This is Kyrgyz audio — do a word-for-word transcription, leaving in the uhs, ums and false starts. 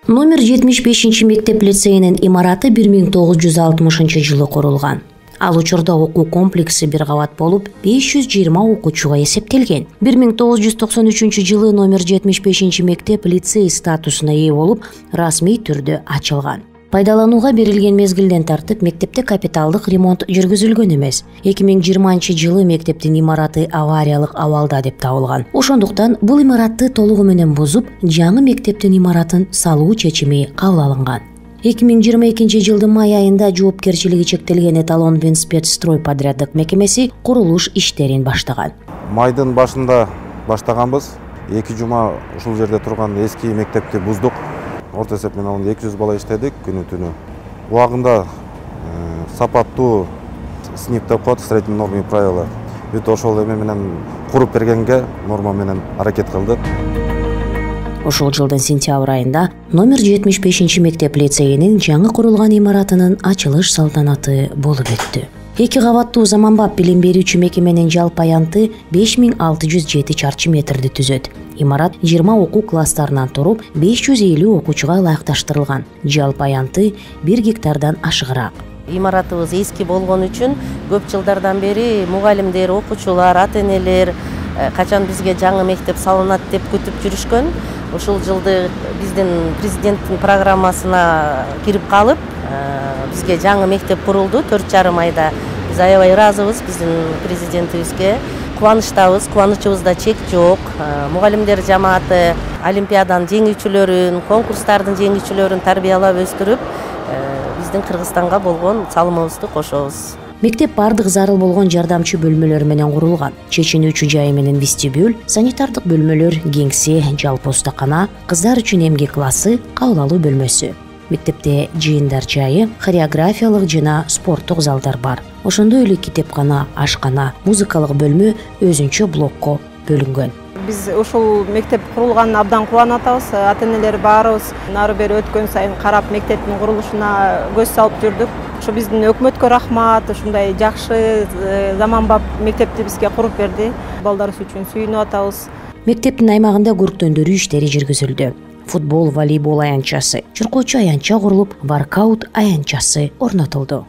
Номер жетимиш бешинчи мектеп лицейинин имараты бир миң тогуз жүз алтымышынчы жылы курулган. Ал учурда окуу комплекси бир кабат болуп, беш жүз жыйырма окуучуга эсептелген. бир миң тогуз жүз токсон үчүнчү жылы номер жетимиш бешинчи мектеп лицей статусуна ээ болуп, расмий түрдө ачылган. Пайдаланууга берилген мезгилден тартып мектепте капиталдык ремонт жүргүзүлгөн эмес. эки миң жыйырманчы жылы мектептин имараты авариялык абалда деп табылган. Ошондуктан бул имаратты толугу менен бузуп, жаңы мектептин имаратын салуу чечими кабыл алынган. эки миң жыйырма экинчи жылдын май айында жоопкерчилиги чектелген Эталон Винспецстрой подряддык мекемеси курулуш иштерин баштаган. Майдын башында баштаганбыз. эки жума ушул жерде турган эски мектепти буздук. Орто эсеп менен алганда эки жүз бала иштедик күнү түнү. Убагында сапаттуу снип деп коет, средний нормы и правила. Бүт ошол эме менен куруп бергенге норма менен аракет кылдык. Ошол жылдын сентябрь айында номер жетимиш бешинчи мектеп лицейинин жаңы курулган имаратынын ачылыш салтанаты болуп өттү. Эки кабаттуу заманбап билим берүүчү мекеменин жалпы аянты беш миң алты жүз жети чарчы метрди түзөт. Имарат жыйырма окуу класстарынан туруп, беш жүз элүү окуучуга ылайыкташтырылган. Жалпы аянты бир гектардан ашыгыраак. Имаратыбыз эски болгон үчүн көп жылдардан бери мугалимдер, окуучулар, ата-энелер качан бизге жаңы мектеп салынат деп күтүп жүрүшкөн. Ушул жылды биздин президенттин программасына кирип калып, бизге жаңы мектеп курулду төрт жарым айда. Биз аябай ыраазыбыз биздин президентибизге. Кубанычтабыз, кубанычыбызда чек жок. Мугалимдер жамааты олимпиаданын жеңүүчүлөрүн, конкурстардын жеңүүчүлөрүн тарбиялап өстүрүп, биздин Кыргызстанга болгон салымыбызды кошобуз. Мектеп бардык зарыл болгон жардамчы бөлмөлөр менен курулган. Чечинүүчү жайы менен вестибюль, санитардык бөлмөлөр, кеңсе, жалпы устакана, кыздар үчүн эмгек классы, кабыл алуу бөлмөсү. Мектепте жыйындар жайы, хореографиялык жана спорттук залдар бар. Ошондой эле китепкана, ашкана, музыкалык бөлмө өзүнчө блокко бөлүнгөн. Биз ушул мектеп курулганына абдан кубанып атабыз. Ата-энелер баарыбыз нары бери өткөн сайын карап мектептин курулушуна көз салып жүрдүк. Ушу биздин өкмөткө рахмат, ушундай жакшы заманбап мектепти бизге куруп берди. Балдарыбыз үчүн сүйүнүп атабыз. Мектептин аймагында көрктөндүрүү иштери жүргүзүлдү. Футбол, волейбол аянтчасы, чуркоочу аянтча курулуп, воркаут аянтчасы орнотулду.